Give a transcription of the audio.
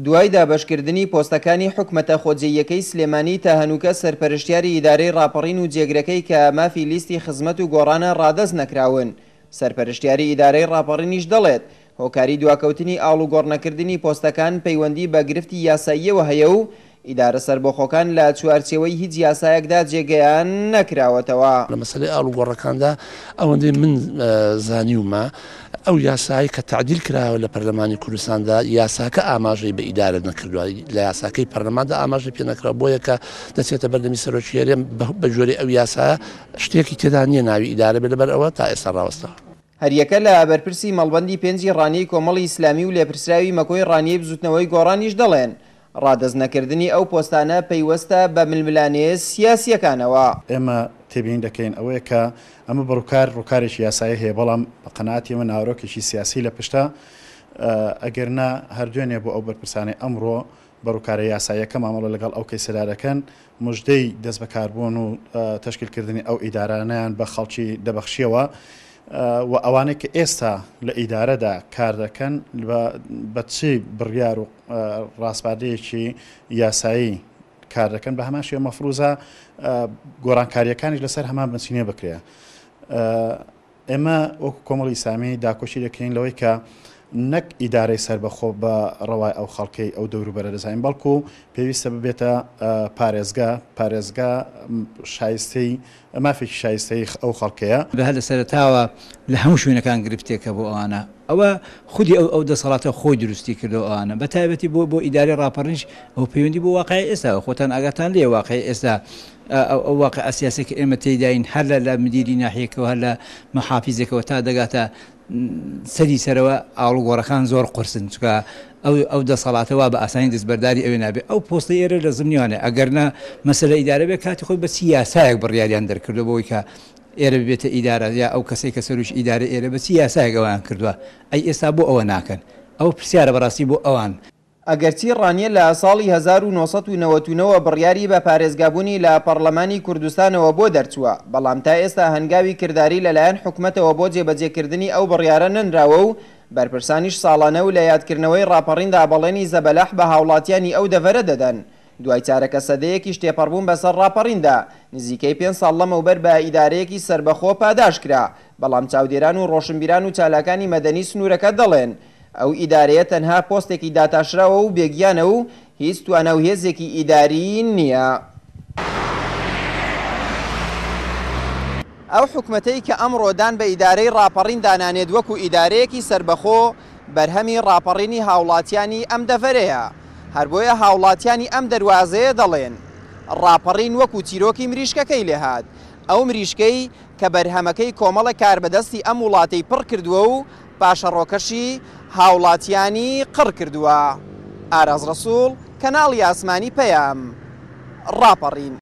دوای دابەشکردنی پۆستەکانی حکومەتە خۆجێییەکەی سلێمانی تا هەنووکە سەرپەرشتیاری ئیدارەی ڕاپەڕین و جێگرەکەی کە مافی لیستی خزمەت و گۆڕانە ڕادەست نەکراون. سەرپەرشتیاری ئیدارەی ڕاپەڕینیش دەڵێت، هۆکاری دواکەوتنی ئاڵوگۆڕنەکردنی پۆستەکان پەیوەندی بە گرفتی یاساییەوە هەیە و ئیدارە سەربەخۆکان لە چوارچێوەی هیچ یاسایەکدا جێگەیان نەکراوەتەوە. لە مەسەلەی ئاڵوگۆڕەکاندا ئەوەندەی من زانیومە ئەو یاسایەی کە تەعدیل کراوە لە پەرلەمانی کوردستاندا یاساکە ئاماژەی بە ئیدارە نەکردووە، لە یاساکەی پەرلەماندا ئاماژەی پێ نەکراوە، بۆیە کە دەچێتە بەردەمی سەرۆکی هەرێم بە گوێرەی ئەو یاسایە شتێکی تێدا نییە ناوی ئیدارە بێت لەبەر ئەوە تا ئێستا ڕاوەستاوە. هەریەکە لە بەرپرسی مەڵبەندی پێنجی ڕانیەی کۆمەڵی ئیسلامی و لێپرسراوی مەکۆی ڕانیەی بزوتنەوەی گۆڕانیش دەڵێن، ڕادەست نەکردنی ئەو پۆستانە پەیوەستە بە ململانێ سیاسییەکانەوە. ئێمە تێبینی دەکەین ئەوەیە کە ئەمە بە ڕووکار ڕووکارێکی یاسایی هەیە، بەڵام بە قەناعەتی ئێمە ناوەرۆکێکی سیاسی لە پشتە، ئەگەر نا هەر دوێنێ بۆ ئەو بەرپرسانەی ئەمڕۆ بە ڕووکارە یاساییەکە مامەڵە لەگەڵ ئەو کەیسەدا دەکەن، مژدەی دەستبەکاربوون و تەشکیلکردنی ئەو ئیدارانەیان بە خەڵکی دەبەخشیەوە و ئەوانەی کە ئێستا لە ئیدارەدا کار دەکەن بە چ بڕیار و ڕاسپاردەیەکی یاسایی کار دەکەن بە هەمان شێوە مەفروزە گۆڕانکارییەکانیش لەسەر هەمان بنچینە بکرێ. ئێمە وەکو کۆمەڵی ئیسلامی داکۆکی دەکەین لەوەی کە نەک ئیدارەی سەربەخۆ بە ڕەوای ئەو خەڵکەی ئەو دەوروبەرە دەزانین، بەڵکو پێویستە ببێتە پارێزگا، پارێزگا شایستەی مافێکی شایستەی ئەو خەڵکەیە. هەر لە سەرەتاوە لە هەموو شوێنەکان گرفتێکە بۆ ئەوانە، ئەوە خودی ئەو ئەو دەسەڵاتە خۆی دروستی کردووە ئەوانە، بە تایبەتی بۆ بۆ ئیدارەی ڕاپەڕینیش ئەوە پەیوەندی بۆ واقعی ئێستاوە، خۆتان ئاگاتان لێیە واقعی ئێستا ئەو واقیعە سیاسیە کە ئێمە تێیداین هەر لە لە مدیری ناحیەکەوە هەر لە محافیزێکەوە تا دەگاتە سەری سەرەوە ئاڵوگۆڕەکان زۆر قورسن چونکە ئەو ئەو دەسەڵاتە وا بە ئاسانی دەستبەرداری ئەوێ نابێ ئەو پۆستەی ئێرە لە زمنیوانە ئەگەرنا مەسەلە ئیدارە بێ کاتی خۆی بە چی یاسایەک بڕیاریان دەرکردوە بۆی کە ئێرە ببێتە ئیدارە یا ئەو کەسەی کە سەرۆکی ئیدارە ئێرە بە چی یاسایەک ئەویان کردوە ئەی ئێستا بۆ ئەوە ناکەن ئەوە پرسیارە بەڕاستی بۆ ئەوان. ئەگەرچی ڕانیە لە ساڵی 1999 وە بڕیاری بە پارێزگابوونی لە پەڕلەمانی کوردستانەوە بۆ دەرچووە، بەڵام تا ئێستا هەنگاوی کرداری لەلایەن حکومەتەوە بۆ جێبەجێکردنی ئەو بڕیارە نەنراوە و بەرپرسانیش ساڵانە و لە یادکردنەوەی ڕاپەڕیندا بەڵێنی زەبەلاح بە هاوڵاتیانی ئەو دەڤەرە دەدەن. دوای چارەکە سەدەیەکیش تێپەڕبوون بەسەر ڕاپەڕیندا، نزیکەی پێنج ساڵ لەمەوبەر بە ئیدارەیەکی سەربەخۆ پاداشت کرا، بەڵام چاودێران و ڕۆشنبیران و چالاکانی مەدەنی سنوورەکە دەڵێن، ئەو ئیدارەیە تەنها پۆستێکی داتاشراوە و بێگیانە و هیچ توانا و هێزێکی ئیداریی نییە. ئەو حکومەتەی کە ئەمڕۆ دان بە ئیدارەی ڕاپەڕین دانانێت وەکو ئیدارەیەکی سەربەخۆ، بەرهەمی ڕاپەڕینی هاوڵاتیانی ئەم دەڤەرەیە. هەر بۆیە هاوڵاتیانی ئەم دەروازەیە دەڵێن، ڕاپەڕین وەکو چیرۆکی مریشکەکەی لێهات، ئەو مریشکەی کە بەرهەمەکەی کۆمەڵێک کاربەدەستی ئەم وڵاتەی پڕ کردووە و پاشەڕۆکەشی هاوڵاتیانی قڕ کردووە. ئاراز ڕەسوڵ، کەناڵی ئاسمانی پەیام، ڕاپەڕین.